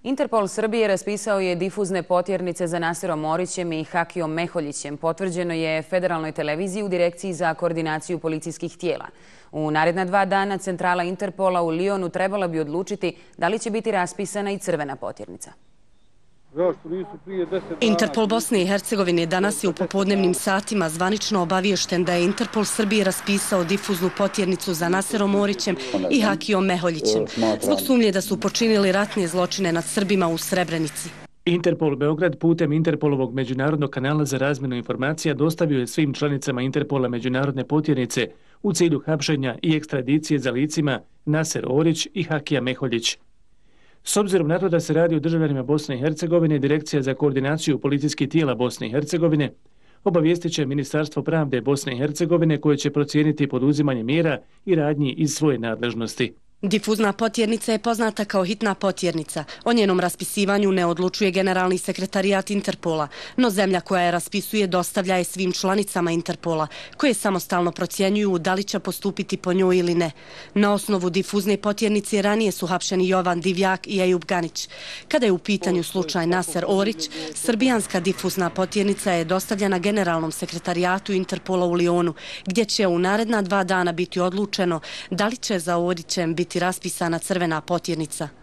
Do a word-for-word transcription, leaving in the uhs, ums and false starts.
Interpol Srbije raspisao je difuzne potjernice za Naserom Orićem i Hakijom Meholjićem. Potvrđeno je Federalnoj televiziji u Direkciji za koordinaciju policijskih tijela. U naredna dva dana centrala Interpola u Lionu trebala bi odlučiti da li će biti raspisana i crvena potjernica. Interpol Bosne i Hercegovine danas je u popodnevnim satima zvanično obaviješten da je Interpol Srbije raspisao difuznu potjernicu za Naserom Orićem i Hakijom Meholjićem zbog sumnje da su počinili ratne zločine nad Srbima u Srebrenici. Interpol Beograd putem Interpolovog međunarodnog kanala za razmjenu informacija dostavio je svim članicama Interpola međunarodne potjernice u cilju hapšenja i ekstradicije za licima Naser Orić i Hakija Meholjić. S obzirom na to da se radi o državljanima Bosne i Hercegovine, Direkcija za koordinaciju policijskih tijela Bosne i Hercegovine obavijestit će Ministarstvo pravde Bosne i Hercegovine koje će procijeniti poduzimanje mjera i radnji iz svoje nadležnosti. Difuzna potjernica je poznata kao hitna potjernica. O njenom raspisivanju ne odlučuje generalni sekretarijat Interpola, no zemlja koja je raspisuje dostavlja je svim članicama Interpola, koje samostalno procjenjuju da li će postupiti po njoj ili ne. Na osnovu difuzne potjernice ranije su hapšeni Jovan Divjak i Ejub Ganić. Kada je u pitanju slučaj Naser Orić, srbijanska difuzna potjernica je dostavljena generalnom sekretarijatu Interpola u Lionu, gdje će u naredna dva dana biti odlučeno da li će za Orićem biti raspisana crvena potjernica.